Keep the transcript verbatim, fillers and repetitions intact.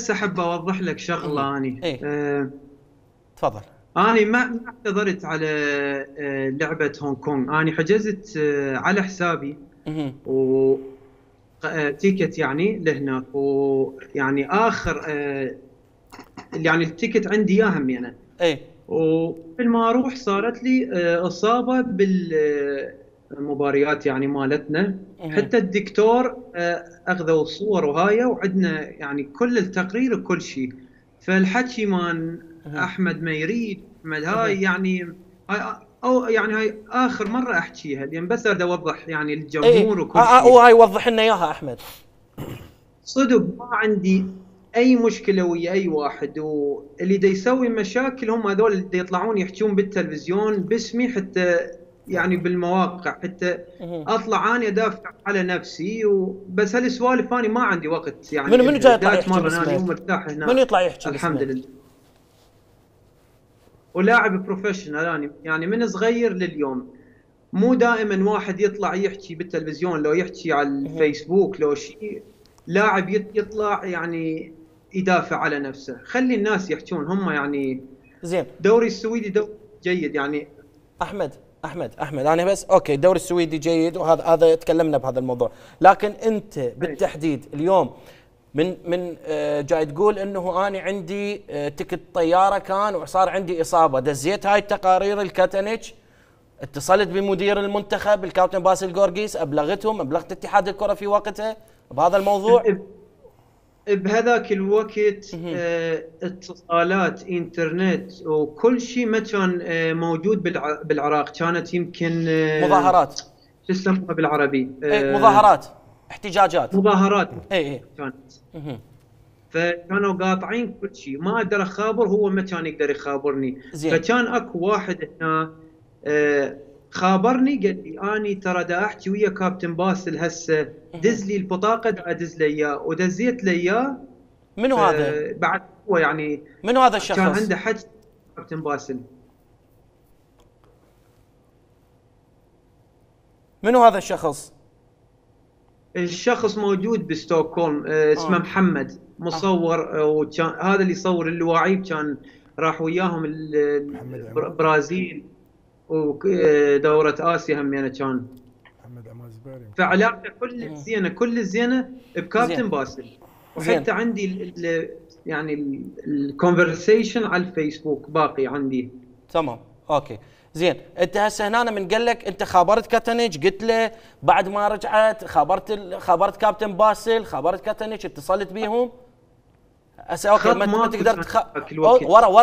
بس احب اوضح لك شغله اني ايه أه تفضل. اني ما ما اعتذرت على أه لعبه هونغ كونغ. اني حجزت أه على حسابي اها و أه تيكت يعني لهناك، ويعني اخر أه يعني التيكت عندي اياه همي انا. ايه وقبل ما اروح صارت لي أه اصابه بالمباريات يعني مالتنا. اها حتى الدكتور أه اخذوا الصور وهاي، وعندنا يعني كل التقرير وكل شيء. فالحكي مان اها احمد ما يريد احمد اها هاي يعني هاي او يعني هاي اخر مره احكيها، لان بس اريد اوضح يعني ايه للجمهور اه وكل اه شيء. وهاي وضح لنا اياها احمد. صدق ما عندي اي مشكله ويا اي واحد، واللي دا يسوي مشاكل هم هذول اللي دا يطلعون يحجون بالتلفزيون باسمي، حتى يعني بالمواقع، حتى اها اطلع اني ادافع على نفسي. وبس هالسوالف اني ما عندي وقت منو يعني منو جاي الها، يطلع دا يحكي اتمرن اني باسمك؟ ومرتاح منو هنا يطلع يحكي الحمد باسمك؟ لله. ولاعب بروفيشنال اني يعني من صغير لليوم. مو دائما واحد يطلع يحكي بالتلفزيون، لو يحكي على اها الفيسبوك لو شيء لاعب يط- يطلع يعني يدافع على نفسه. خلي الناس يحكون هم يعني. زين. دوري السويدي دوري جيد يعني. احمد احمد احمد انا بس اوكي الدوري السويدي جيد، وهذا هذا تكلمنا بهذا الموضوع، لكن انت أي. بالتحديد اليوم من من آه، جاي تقول انه انا عندي آه، تكت طياره كان وصار عندي اصابه، دزيت هاي التقارير الكاتنيتش، اتصلت بمدير المنتخب الكابتن باسل جورجيس، ابلغتهم، ابلغت اتحاد الكره في وقتها بهذا الموضوع؟ ب- بهذاك الوقت مهم. آه، اتصالات انترنت وكل شيء ما كان آه، موجود بالع- بالعراق. كانت يمكن آه، مظاهرات. شو يسموها بالعربي اي آه، مظاهرات، احتجاجات. مظاهرات اي اي. كانت. مهم. فكانوا قاطعين كل شيء، ما اقدر اخابر، هو ما كان يقدر يخابرني. زين. فكان اكو واحد هنا آه، خابرني، قال لي اني ترى دا احكي ويا كابتن باسل هسه، مهم. دز لي البطاقه دا ادز له اياه، ودزيت له اياه. منو هذا؟ فبعد هو يعني منو هذا كان الشخص؟ عنده حكي كابتن باسل. منو هذا الشخص؟ الشخص موجود بستوكهولم آه، اسمه اه محمد اه مصور. آه، وكان هذا اللي يصور اللواعيب، كان راح وياهم ال- محمد عماد. البرازيل ودورة آسيا هم يعني كان. محمد عماد زباري. فعلاقته كل مهم. الزينة كل الزينة زين بكابتن باسل. زين. وحتى عندي ال ال يعني الكونفرسيشن على الفيسبوك باقي عندي. تمام اوكي. زين انت هسه هنا من قال لك انت خابرت كاتنيج، قلت له بعد ما رجعت خابرت ال... خابرت كابتن باسل، خابرت كاتنيج، اتصلت بيهم هسه اوكي خط ما, ت- ما ماكو تقدر تخ... ذاك الوقت. ورا ورا